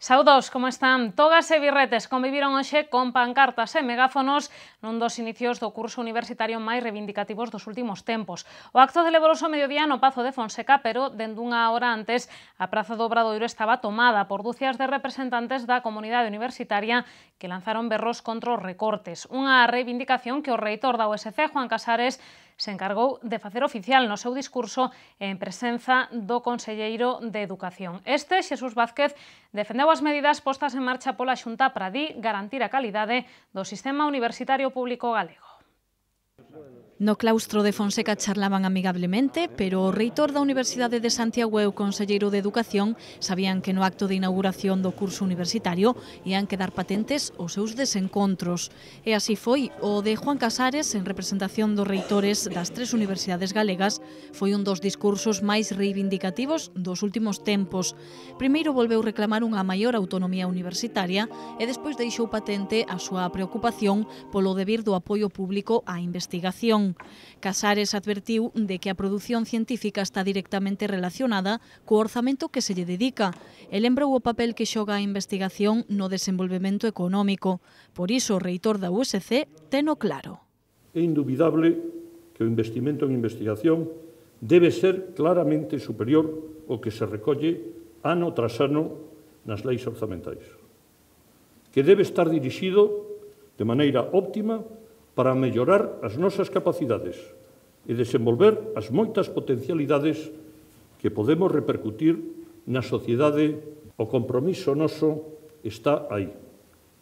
Saudos, como están? Togas e birretes conviviron hoxe con pancartas e megáfonos nun dos inicios do curso universitario máis reivindicativos dos últimos tempos. O acto celebrouse ao mediodía no Pazo de Fonseca, pero dende unha hora antes a Praza do Obradoiro estaba tomada por dúcias de representantes da comunidade universitaria que lanzaron berros contra os recortes. Unha reivindicación que o reitor da USC, Juan Casares, se encargou de facer oficial no seu discurso en presenza do conselleiro de Educación. Este, Xesús Vázquez, defendeu as medidas postas en marcha pola Xunta para garantir a calidade do sistema universitario público galego. No claustro de Fonseca charlaban amigablemente, pero o reitor da Universidade de Santiago e o conselleiro de Educación sabían que no acto de inauguración do curso universitario ian quedar patentes os seus desencontros. E así foi. O de Juan Casares, en representación dos reitores das tres universidades galegas, foi un dos discursos máis reivindicativos dos últimos tempos. Primeiro volveu reclamar unha maior autonomía universitaria e despois deixou patente a súa preocupación polo debir do apoio público á investigación. Casares advertiu de que a produción científica está directamente relacionada co orzamento que se lle dedica e lembrou o papel que xoga a investigación no desenvolvemento económico. Por iso o reitor da USC teno claro. É indubidable que o investimento en investigación debe ser claramente superior ao que se recolle ano tras ano nas leis orzamentais, que debe estar dirixido de maneira óptima para mellorar as nosas capacidades e desenvolver as moitas potencialidades que podemos repercutir na sociedade. O compromiso noso está aí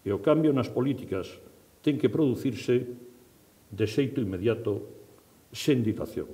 e o cambio nas políticas ten que producirse de xeito inmediato, sen dilación.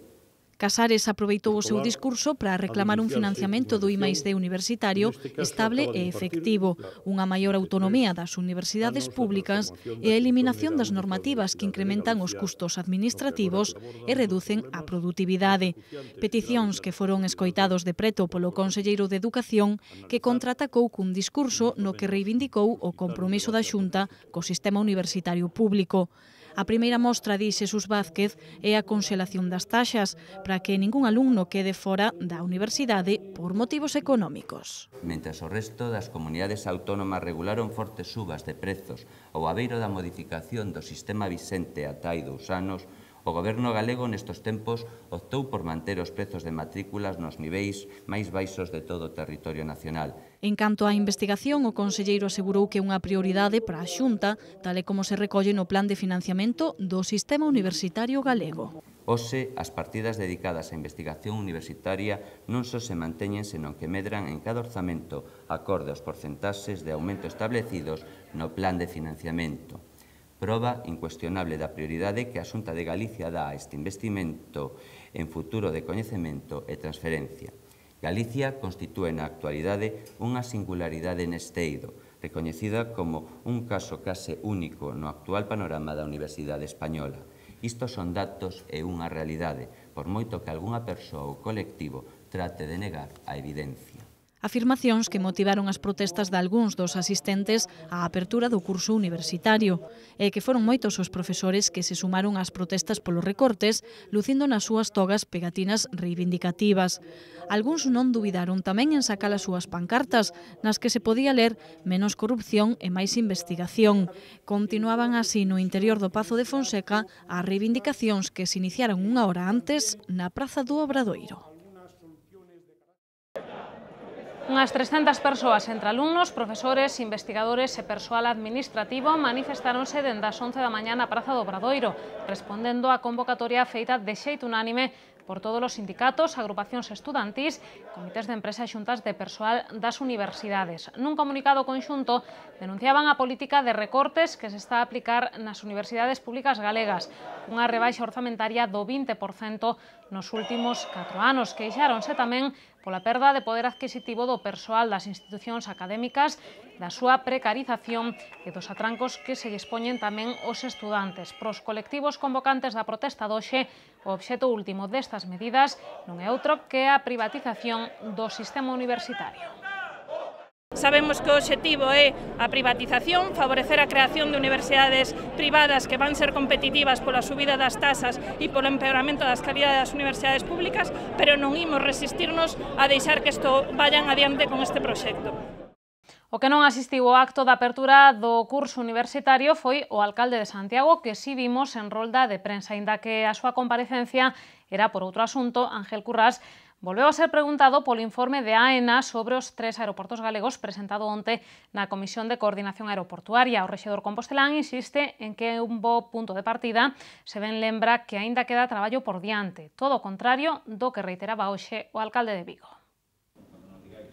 Casares aproveitou o seu discurso para reclamar un financiamento do I+D universitario estable e efectivo, unha maior autonomía das universidades públicas e a eliminación das normativas que incrementan os custos administrativos e reducen a produtividade. Peticións que foron escoitados de preto polo conselleiro de Educación, que contraatacou cun discurso no que reivindicou o compromiso da Xunta co sistema universitario público. A primeira mostra, di Xesús Vázquez, é a conxelación das taxas para que ningún alumno quede fora da universidade por motivos económicos. Mentres o resto das comunidades autónomas regularon fortes subas de prezos ao abeiro da modificación do sistema vixente ata hai 2 anos, o Goberno galego nestes tempos optou por manter os prezos de matrículas nos niveis máis baixos de todo o territorio nacional. En canto á investigación, o conselleiro asegurou que é unha prioridade para a Xunta, tal e como se recolle no plan de financiamento do sistema universitario galego. Hoxe, as partidas dedicadas á investigación universitaria non só se manteñen, senón que medran en cada orzamento acorde aos porcentaxes de aumento establecidos no plan de financiamento. Proba incuestionable da prioridade que a Xunta de Galicia dá a este investimento en futuro de coñecemento e transferencia. Galicia constitúe na actualidade unha singularidade neste eido, recoñecida como un caso case único no actual panorama da Universidade Española. Isto son datos e unha realidade, por moito que algunha persoa ou colectivo trate de negar a evidencia. Afirmacións que motivaron as protestas de algúns dos asistentes á apertura do curso universitario e que foron moitos os profesores que se sumaron ás protestas polos recortes, lucindo nas súas togas pegatinas reivindicativas. Algúns non dubidaron tamén en sacar as súas pancartas, nas que se podía ler menos corrupción e máis investigación. Continuaban así no interior do Pazo de Fonseca as reivindicacións que se iniciaron unha hora antes na Praza do Obradoiro. Unhas 300 persoas entre alumnos, profesores, investigadores e persoal administrativo manifestáronse dende as 11 da mañá na Praza do Obradoiro, respondendo á convocatoria feita de xeito unánime por todos os sindicatos, agrupacións estudantís, comités de empresa e xuntas de persoal das universidades. Nun comunicado conxunto denunciaban a política de recortes que se está a aplicar nas universidades públicas galegas, unha rebaixa orzamentaria do 20% nos últimos 4 anos. Queixáronse tamén pola perda de poder adquisitivo do persoal das institucións académicas, da súa precarización e dos atrancos que se expoñen tamén os estudantes. Pros colectivos convocantes da protesta doxe, o obxecto último destas medidas non é outro que a privatización do sistema universitario. Sabemos que o obxectivo é a privatización, favorecer a creación de universidades privadas que van ser competitivas pola subida das tasas e polo empeoramento das calidades das universidades públicas, pero non imos resistirnos a deixar que isto vayan adiante con este proxecto. O que non asistiu ao acto da apertura do curso universitario foi o alcalde de Santiago, que si vimos en rolda de prensa, aínda que a súa comparecencia era por outro asunto. Ángel Currás volveu a ser preguntado polo informe de AENA sobre os 3 aeroportos galegos presentado onte na Comisión de Coordinación Aeroportuaria. O rexedor compostelán insiste en que é un bo punto de partida, se ben lembra que aínda queda traballo por diante, todo o contrario do que reiteraba hoxe o alcalde de Vigo.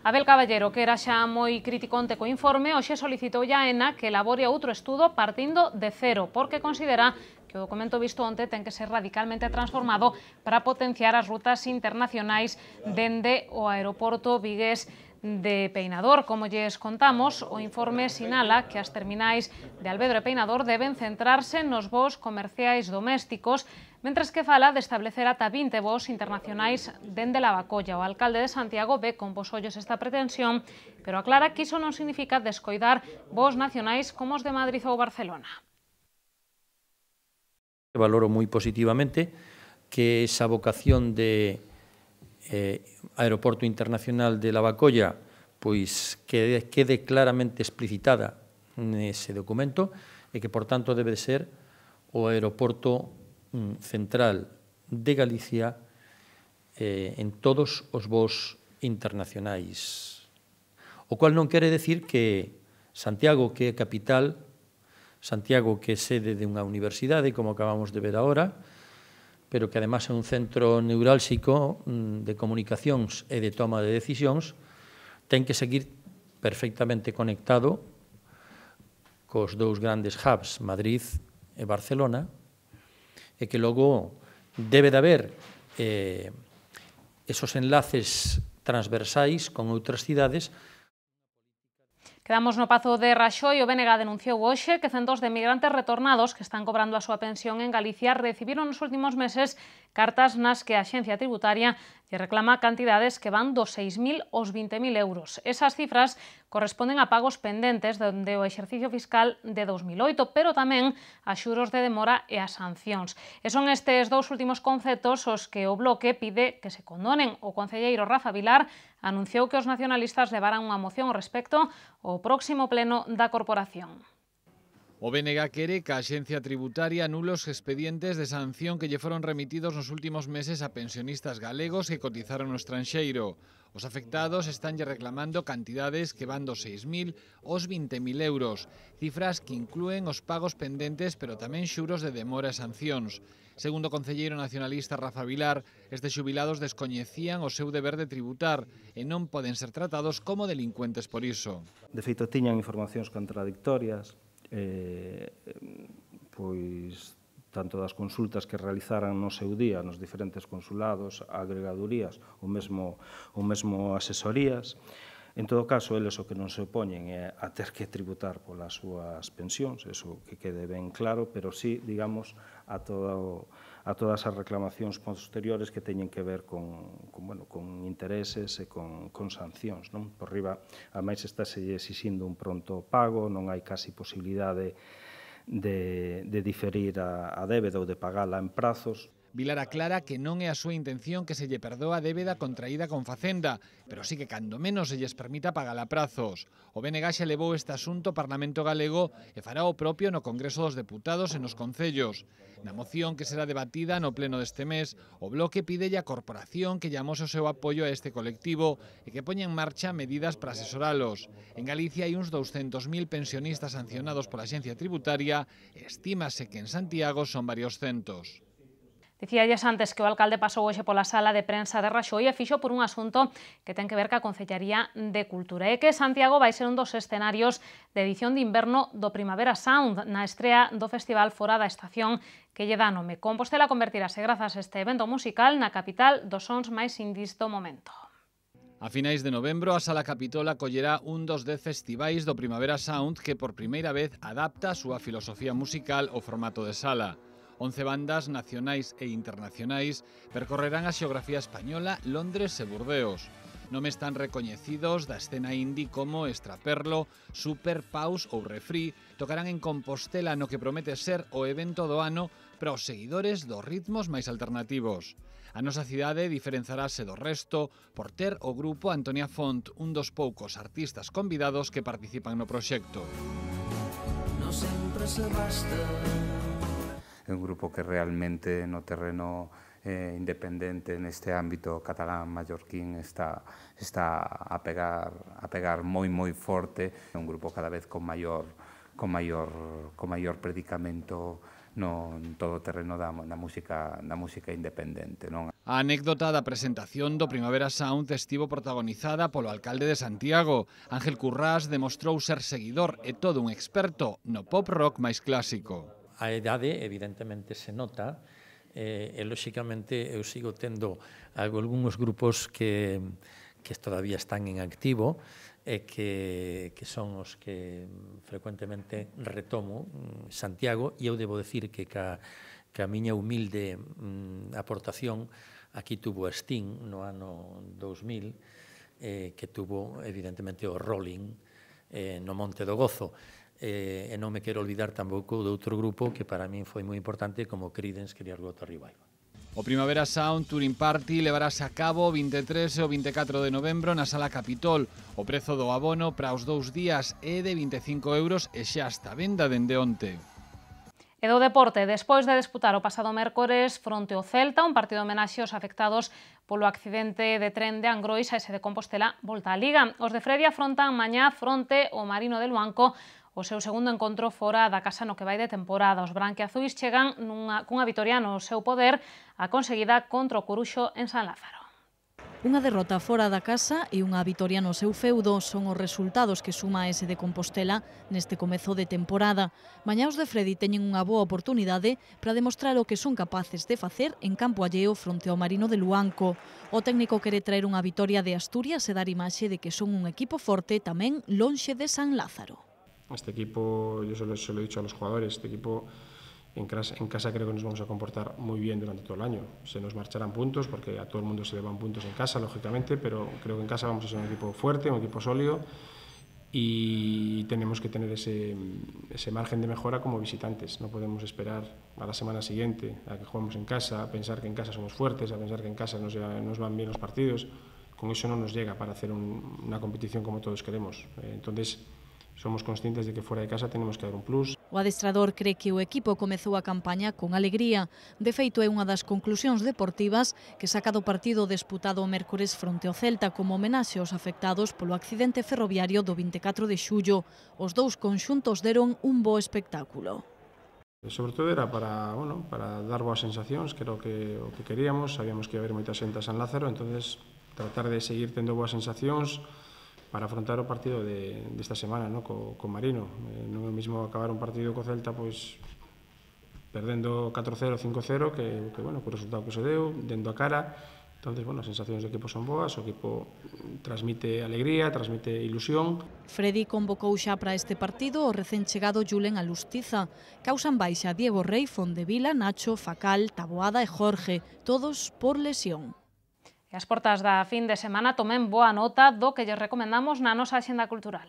Abel Caballero, que era xa moi crítico onte co informe, hoxe solicitou a AENA que elabore outro estudo partindo de cero, porque considera que o documento visto onte ten que ser radicalmente transformado para potenciar as rutas internacionais dende o aeroporto vigués de Peinador. Como lles contamos, o informe sinala que as terminais de Alvedro e Peinador deben centrarse nos voos comerciais domésticos, mentres que fala de establecer ata 20 voos internacionais dende Lavacolla. O alcalde de Santiago ve con bos ollos esta pretensión, pero aclara que iso non significa descoidar voos nacionais como os de Madrid ou Barcelona. Valoro moi positivamente que esa vocación de Aeroporto Internacional de Lavacolla pois quede claramente explicitada nese documento e que, por tanto, debe ser o aeroporto central de Galicia en todos os voos internacionais. O cual non quere decir que Santiago, que é capital, Santiago, que é sede de unha universidade, como acabamos de ver agora, pero que además é un centro neurálxico de comunicacións e de toma de decisións, ten que seguir perfectamente conectado cos dous grandes hubs, Madrid e Barcelona, e que logo debe de haber esos enlaces transversais con outras cidades. Quedamos no Pazo de Raxoi. O BNG denunciou hoxe que centos de migrantes retornados que están cobrando a súa pensión en Galicia recibiron nos últimos meses cartas nas que a Axencia Tributaria lle reclama cantidades que van dos 6.000 aos 20.000 euros. Esas cifras corresponden a pagos pendentes dende o exercicio fiscal de 2008, pero tamén a xuros de demora e a sancións. E son estes dous últimos conceptos os que o Bloque pide que se condonen. O concelleiro Rafa Vilar anunciou que os nacionalistas levarán unha moción ao respecto ao próximo pleno da corporación. O BNG quere que a Axencia Tributaria anule os expedientes de sanción que lle foron remitidos nos últimos meses a pensionistas galegos que cotizaron no estranxeiro. Os afectados estanlle reclamando cantidades que van dos 6.000 aos 20.000 euros, cifras que inclúen os pagos pendentes pero tamén xuros de demora e sancións. Segundo o concelleiro nacionalista Rafa Vilar, estes xubilados descoñecían o seu deber de tributar e non poden ser tratados como delincuentes por iso. De feito, tiñan informacións contradictorias, pois tanto das consultas que realizaran no seu día nos diferentes consulados, agregadurías ou mesmo asesorías. En todo caso, eles o que non se opoñen é a ter que tributar polas súas pensións, eso que quede ben claro, pero sí, digamos, a todas as reclamacións posteriores que teñen que ver con intereses e con sancións. Por riba, ademais, estáse exixindo un pronto pago, non hai casi posibilidade de diferir a débeda ou de pagala en prazos. Vilar aclara que non é a súa intención que se lle perdoa a débeda contraída con Facenda, pero sí que cando menos se lles permita pagala a prazos. O BNG xa levou este asunto ao Parlamento galego e fará o propio no Congreso dos Deputados e nos concellos. Na moción que será debatida no pleno deste mes, o Bloque pidelle á corporación que llamose o seu apoio a este colectivo e que poña en marcha medidas para asesoralos. En Galicia hai uns 200.000 pensionistas sancionados pola Axencia Tributaria e estímase que en Santiago son varios centos. Dicíalles antes que o alcalde pasou hoxe pola sala de prensa de Raxoi e fixo por un asunto que ten que ver ca Concellaría de Cultura. É que Santiago vai ser un dos escenarios de edición de inverno do Primavera Sound na estrea do festival fora da estación que lle dá nome. Compostela convertirase grazas a este evento musical na capital dos sons máis indis do momento. A finais de novembro, a Sala Capitol acollerá un dos 10 festivais do Primavera Sound que por primeira vez adapta a súa filosofía musical ao formato de sala. 11 bandas nacionais e internacionais percorrerán a xeografía española, Londres e Burdeos. Nomes tan recoñecidos da escena indie como Extraperlo, Super, Paus ou Refri tocarán en Compostela no que promete ser o evento do ano para os seguidores dos ritmos máis alternativos. A nosa cidade diferenzarase do resto por ter o grupo Antonia Font, un dos poucos artistas convidados que participan no proxecto. No sempre se basta. É un grupo que realmente no terreno independente neste ámbito catalán mallorquín está a pegar moi forte. É un grupo cada vez con maior predicamento no todo o terreno da música independente, non? A anécdota da presentación do Primavera Sound estivo protagonizada polo alcalde de Santiago. Ángel Currás demostrou ser seguidor e todo un experto no pop rock máis clásico. A idade, evidentemente, se nota, e, lóxicamente, eu sigo tendo algúns grupos que todavía están en activo e que son os que frecuentemente retomo Santiago, e eu debo decir que a miña humilde aportación aquí tuvo a Sting no ano 2000, que tuvo, evidentemente, o Rolling no Monte do Gozo. E non me quero olvidar tampouco de outro grupo que para min foi moi importante como Creedence Clearwater Revival. O Primavera Sound Touring Party levarase a cabo o 23 e o 24 de novembro na Sala Capitol. O prezo do abono para os 2 días é de 25 € e xa está a venda dende onte. E do deporte, despois de disputar o pasado mércores fronte ao Celta, un partido homenaxe aos afectados polo accidente de tren de Angrois a ese de Compostela, volta á Liga. Os de Fredi afrontan mañá fronte ao Marino de Luanco o seu segundo encontro fora da casa no que vai de temporada. Os branquiazuis chegan cunha vitoria no seu poder, a conseguida contra o Coruxo en San Lázaro. Unha derrota fora da casa e unha vitoria no seu feudo son os resultados que suma ese de Compostela neste comezo de temporada. Mañá os de Fredi teñen unha boa oportunidade para demostrar o que son capaces de facer en campo alleo fronte ao Marino de Luanco. O técnico quere traer unha vitoria de Asturias e dar imaxe de que son un equipo forte tamén lonxe de San Lázaro. Este equipo, yo se lo he dicho a los jugadores, este equipo en casa creo que nos vamos a comportar muy bien durante todo el año. Se nos marcharán puntos porque a todo el mundo se le van puntos en casa, lógicamente, pero creo que en casa vamos a ser un equipo fuerte, un equipo sólido y tenemos que tener ese margen de mejora como visitantes. No podemos esperar a la semana siguiente a que juguemos en casa, a pensar que en casa somos fuertes, a pensar que en casa nos van bien los partidos. Con eso no nos llega para hacer una competición como todos queremos. Entonces, somos conscientes de que fora de casa tenemos que dar un plus. O adestrador cree que o equipo comezou a campaña con alegría. De feito, é unha das conclusións deportivas que saca do partido disputado o mércores fronte ao Celta como homenaxe aos afectados polo accidente ferroviario do 24 de xullo. Os dous conxuntos deron un bo espectáculo. Sobre todo era para dar boas sensacións, que era o que queríamos. Sabíamos que ia haber moita xente a San Lázaro, entonces tratar de seguir tendo boas sensacións para afrontar o partido desta semana, ¿no? co Marino. Non é o mismo acabar un partido co Celta pois perdendo 4-0, 5-0, que o resultado que se deu, dendo a cara. Entonces, as sensacións do equipo son boas, o equipo transmite alegría, transmite ilusión. Fredi convocou xa para este partido o recén chegado Julen Alustiza. Causan baixa Diego Rey, Fondevila, Nacho, Facal, Taboada e Jorge, todos por lesión. E as portas da fin de semana tomen boa nota do que lles recomendamos na nosa axenda cultural.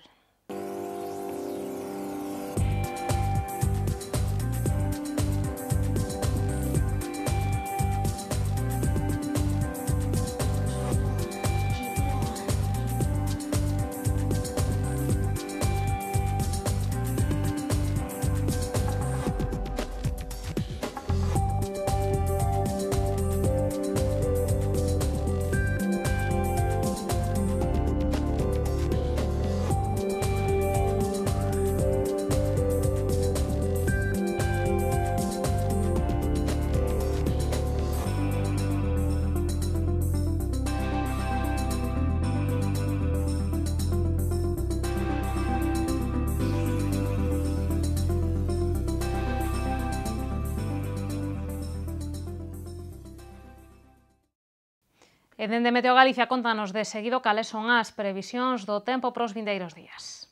E dende Meteo Galicia contanos de seguido cales son as previsións do tempo para os vindeiros días.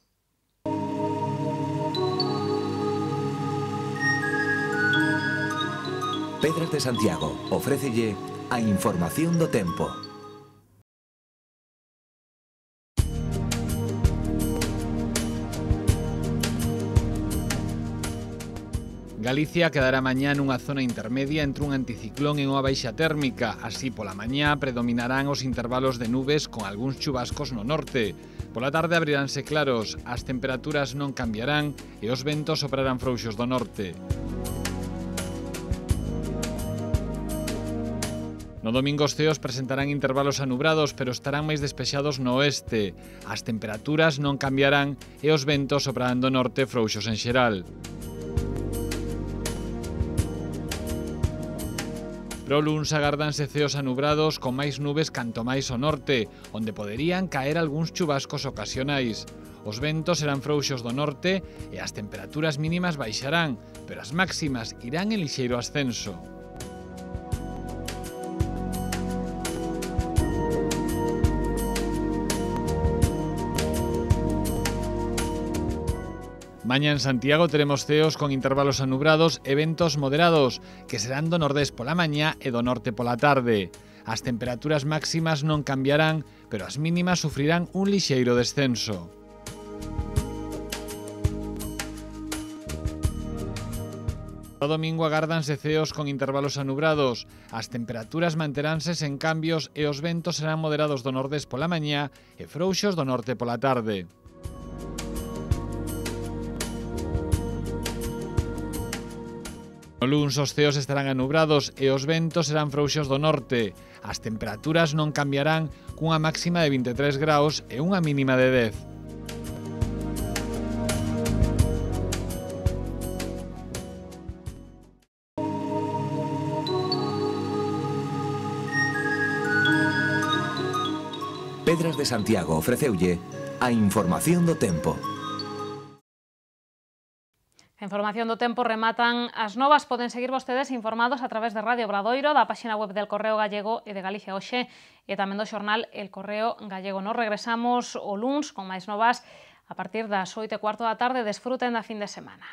Pedras de Santiago ofrécelle a información do tempo. Galicia quedará mañá nunha zona intermedia entre un anticiclón e unha baixa térmica. Así, pola mañá predominarán os intervalos de nubes con algúns chubascos no norte. Pola tarde abriránse claros, as temperaturas non cambiarán e os ventos soprarán frouxos do norte. No domingo os ceos presentarán intervalos anubrados, pero estarán máis despexados no oeste. As temperaturas non cambiarán e os ventos soprarán do norte frouxos en xeral. Pro luns agárdanse ceos anubrados con máis nubes canto máis ao norte, onde poderían caer algúns chubascos ocasionais. Os ventos serán frouxos do norte e as temperaturas mínimas baixarán, pero as máximas irán en lixeiro ascenso. Mañá en Santiago teremos ceos con intervalos anubrados e ventos moderados, que serán do nordés pola mañá e do norte pola tarde. As temperaturas máximas non cambiarán, pero as mínimas sufrirán un lixeiro descenso. O domingo agárdanse ceos con intervalos anubrados. As temperaturas manteránse sen cambios e os ventos serán moderados do nordés pola mañá e frouxos do norte pola tarde. No luns os ceos estarán anubrados e os ventos serán frouxos do norte. As temperaturas non cambiarán cunha máxima de 23 graus e unha mínima de 10. Pedras de Santiago ofreceulle a información do tempo. A información do tempo rematan as novas. Poden seguir vostedes informados a través de Radio Obradoiro, da páxina web del Correo Gallego e de Galicia Hoxe e tamén do xornal El Correo Gallego. Nos regresamos o luns con máis novas a partir das 8:15 da tarde. Desfruten da fin de semana.